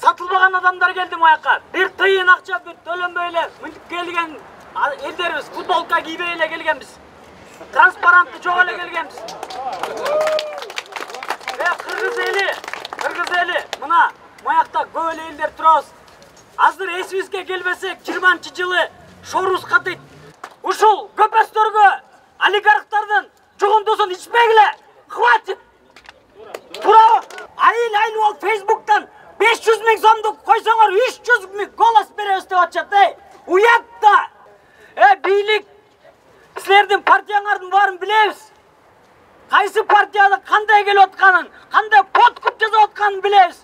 сатылбаган адамдар келди маяка. Бир тыйын акча төлөнбөй эле мынтип келген элдерибиз, футболка кийбей эле келгенбиз. Транспарантты жок эле келгенбиз. Кыргыз эли, мына маякта көп эле элдер турабыз. Азыр эсибизге келбесек, 20-жылы шорубуз катыйт. Ушул көпөстөргө олигархтардын жугундусун ичпегиле. Хватит. Туурабы? Айыл болуп Facebook'тан 500 000 сомду койсоңор 300 000 голос беребиз деп атышат. Уят да. Бийлик, силердин партияңардын баарын билебиз. Кайсы партияда кандай келип атканын, кандай подкуп жасап атканын билебиз.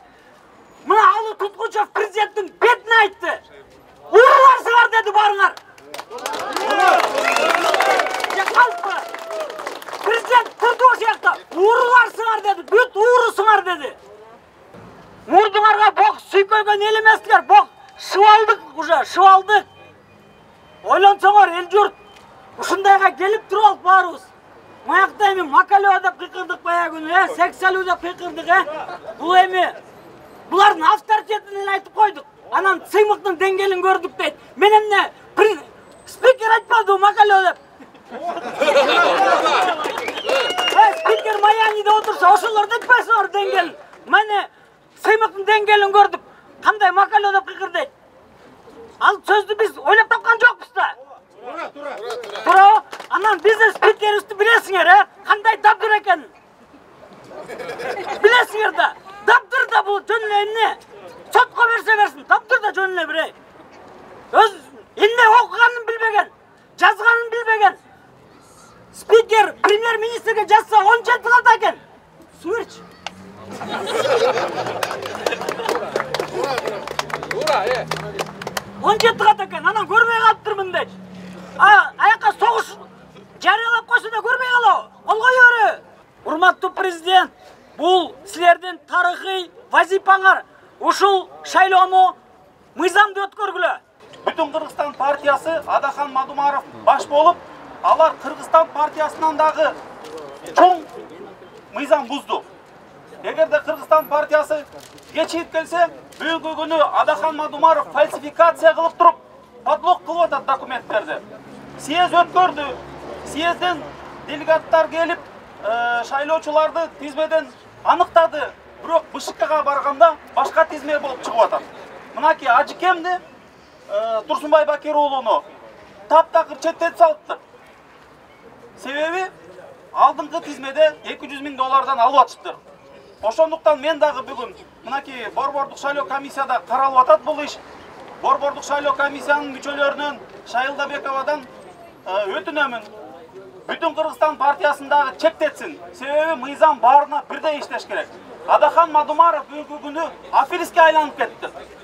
Мына Алы Туткучев президенттин бетине айтты. Ууруларсыңар деди барыңар. Президент турду ошол жакта. Ууруларсыңар деди, бүт уурусуңар деди. Мурдуңарга бок сүйкөлгөн эл эместиңер, бок шыбалдык уже, шыбалдык. Ойлонсоңор эл журт ушундайга келип туруп алып баарыбыз. Маякта эми макалөө деп кыйкырдык баягы күнү, сексалуу деп кыйкырдык, Бул эми булардын авторитетин айтып койдук. Анан сыймыктын деңгээлин көрдүк дейт. Мен эмне спикер айтпады макалөө деп. Спикер Маяниде отурса, ошолорду айтпайсыңар деңгээлин. Мени сыймыктын деңгээлин көрдүк. Кандай макалөө деп кыйкырдыйт. Ал сөздү биз ойлоп тапкан жокпуз да. Туурабы? Анан биздин спикерибизди билесиңер, кандай дабдыр экенин. Билесиңер да. Дабдыр да бул жөн эле эмне? Сотко берсе берсин, дабдыр да жөн эле бирей. Өз эмне окуганын билбеген, жазганын билбеген. Спикер премьер-министрге жазса 10 жыл тыгат экен. Суу берчи. Туура, 10 жыл тыгат экен, анан көрбөй калыптырмын дейт. Аяка согуш жарыялап койсо да көрбөй калабы? Кол кое береби? Урматтуу президент, бул силердин тарыхый вазипаңар. Ушул шайлоону мыйзамдуу өткөргүлө. Бүтүн Кыргызстан партиясы Адахан Мадумаров баш болуп, алар Кыргызстан партиясынан дагы чоң мыйзам бузду. Эгерде Кыргызстан партиясы кечигип келсе, бүгүнкү күнү Адахан Мадумаров фальсификация кылып туруп, подлог кылып атат документтерди. Съезд өткөрдү. Съезден делегаттар келип, шайлоочуларды тизмеден аныктады. Бирок БШКга барганда башка тизме болуп чыгып атат. Мынакей Ажыкемди, Турсунбай Бакир уулуну таптакыр четтетип салыптыр. Себеби алдыңкы тизмеде $200 000 алып атышыптыр. Ошондуктан мен дагы бүгүн мынакей борбордук шайлоо комиссияда каралып атат бул иш. Борбордук шайлоо комиссиянын мүчөлөрүнөн Шайылдабековадан өтүнөмүн. Бүтүн Кыргызстан партиясындагы чектетсин. Себеби мыйзам баарына бирдей иштеш керек. Адахан Мадумаров бүгүнкү күнү аферистке айланып кетти.